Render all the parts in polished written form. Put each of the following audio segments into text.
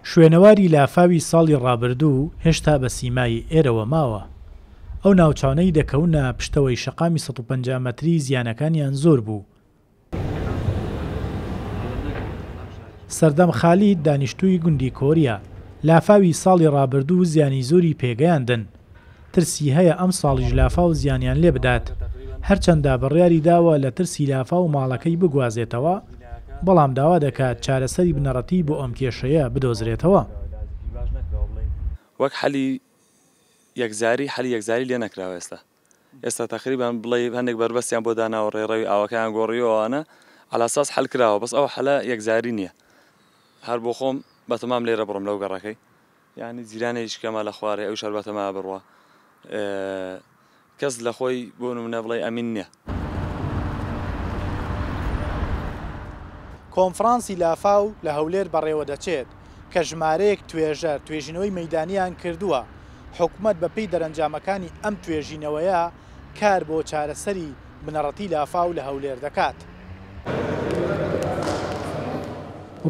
شوێنەواری لافاوی ساڵی ڕابردوو هێشتا بە سیمای ئێرەوە ماوە. ئەو ناوچانەی دەکەونە پشتەوەی شەقامی 150 مەتری زیانەکانیان زۆر بوو. سەردەم خالید دانیشتووی گوندی کۆریە، لافاوی ساڵی ڕابردوو زیانی زۆری پێگەیاندن. ترسی هەیە ئەمساڵیش لافاو زیانیان لێبدات. هەرچەندە بڕیاری داوە لە ترسی لافاو ماڵەکەی بگوازێتەوە، بەڵام داوا دەکات چارەسەری بنەڕەتی بۆ ئەم کێشەیە بدۆزرێتەوە. وەک حەلی یەکجاری حەلی یەکجاری لێ نەکراوە ئێستا ئێستا تەقریبان بڵێی هەندێک بەربەستیان بۆ داناوە ڕێڕەوی ئاوەکەیان گۆڕیوە ئەوانە عەلاساس حەل کراوە بەس ئەو حەلە یەکجاری نییە هەر بۆ خۆم بەتەمام لێرە بڕۆم لەو گەڕەکەی یانی جیرانێکیش کەمە لە خوارێ ئەویش هەر بەتەمایە بڕوا کەس لە خۆی بۆ نمونە بڵێ ئەمین نییە. کۆنفرانسی لافاو لە هەولێر بەڕێوەدەچێت، کە ژمارەیەک توێژەر توێژینەوەی مەیدانییان کردووە، حکومەت بەپێی دەرەنجامەکانی ئەم توێژینەوەیە کار بۆ چارەسەری بنەڕەتی لافاو لە هەولێر دەکات.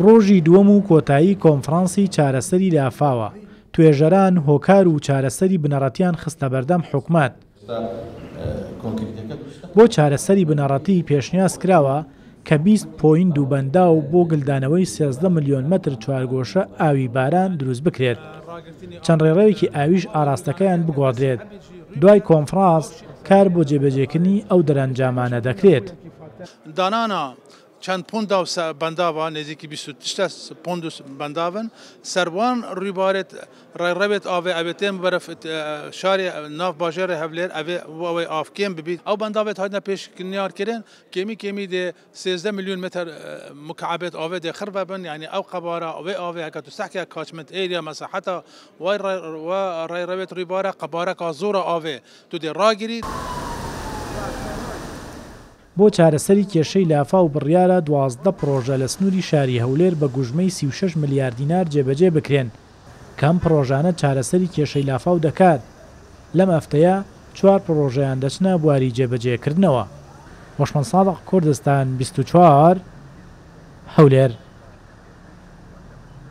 ڕۆژی دووەم و کۆتایی کۆنفرانسی چارەسەری لافاوە، توێژەران هۆکار و چارەسەری بنەڕەتیان خستە بەردەم حکومەت. بۆ چارەسەری بنەڕەتی پێشنیاز کراوە کە 20 پۆیند و بەنداو بۆ گلدانەوەی 13 ملیۆن مەتر چوارگۆشە ئاوی باران دروست بکرێت، چەند ڕێڕەوێکی ئاویش ئاراستەکەیان بگۆڕدرێت، دوای کۆنفراس کار بۆ جێبەجێکردنی ئەو دەرەنجامانە دەکرێت. دانانا چەند پۆندا و بەنداڤا نێزیکی 20 و تشتە پۆند و بەنداڤن سەروان ڕووبارێت ڕێڕەوێت ئاڤێ ئەوێ تێن بەرەف شارێ ناف باژێڕێ هەولێر ئەوێ و ئەوەی ئاڤ کێم ببیت ئەو بەنداڤێت هاتنە پێشنیار کرن کێمی کێمی دێ 13 ملیۆن متر مکعبێت ئاڤێ دێ خڕ بن یعنی ئەو قەبارە ئەوێ ئاڤێ هەکە تو سەحکە کاچمنت ئێریا مەساحەتا وای ڕێڕەوێت ڕووبارە قەبارەکە زۆرە ئاڤێ تو دێ ڕاگریت. بۆ چارەسەری کێشەی لافاو بڕیارە 12 پڕۆژە لە سنووری شاری هەولێر بە گوژمەی 36 ملیار دینار جێبەجێ بکرێن، کە ئەم پڕۆژانە چارەسەری کێشەی لافاو دەکات، لەم هەفتەیە چوار پڕۆژەیان دەچنە بواری جێبەجێکردنەوە. هۆشمەند سادق، کوردستان 24، هەولێر.